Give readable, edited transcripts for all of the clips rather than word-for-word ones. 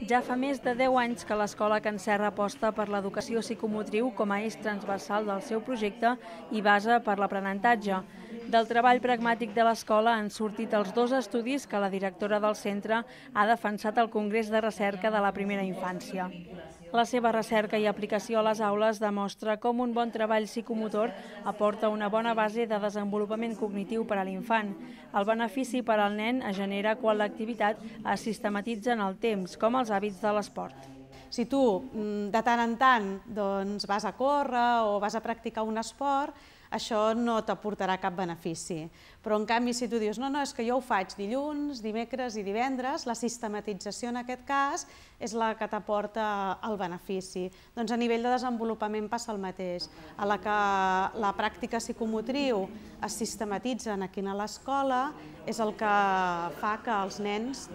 Ja fa més de 10 anys que l'Escola Can Serra aposta per l'educació psicomotriu com a eix transversal del seu projecte i base per l'aprenentatge. Del treball pragmàtic de l'escola han sortit els 2 estudis que la directora del centre ha defensat al Congrés de Recerca de la Primera Infància. La seva recerca i aplicació a les aules demostra com un bon treball psicomotor aporta una bona base de desenvolupament cognitiu per a l'infant. El benefici per al nen es genera quan l'activitat es sistematitza en el temps, com els hàbits de l'esport. Si tu de tant en tant vas a córrer o vas a practicar un esport, això no t'aportarà cap benefici. Però en canvi, si tu dius, no, és que jo ho faig dilluns, dimecres i divendres, la sistematització en aquest cas és la que t'aporta el benefici. Doncs a nivell de desenvolupament passa el mateix. A la que la pràctica psicomotriu es sistematitza aquí a l'escola és el que fa que els nens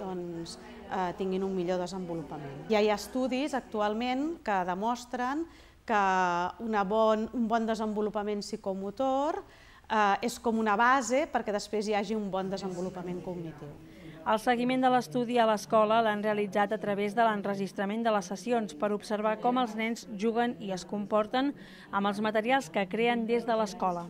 tinguin un millor desenvolupament. Ja hi ha estudis actualment que demostren que un bon desenvolupament psicomotor és com una base perquè després hi hagi un bon desenvolupament cognitiu. El seguiment de l'estudi a l'escola l'han realitzat a través de l'enregistrament de les sessions per observar com els nens juguen i es comporten amb els materials que creen des de l'escola.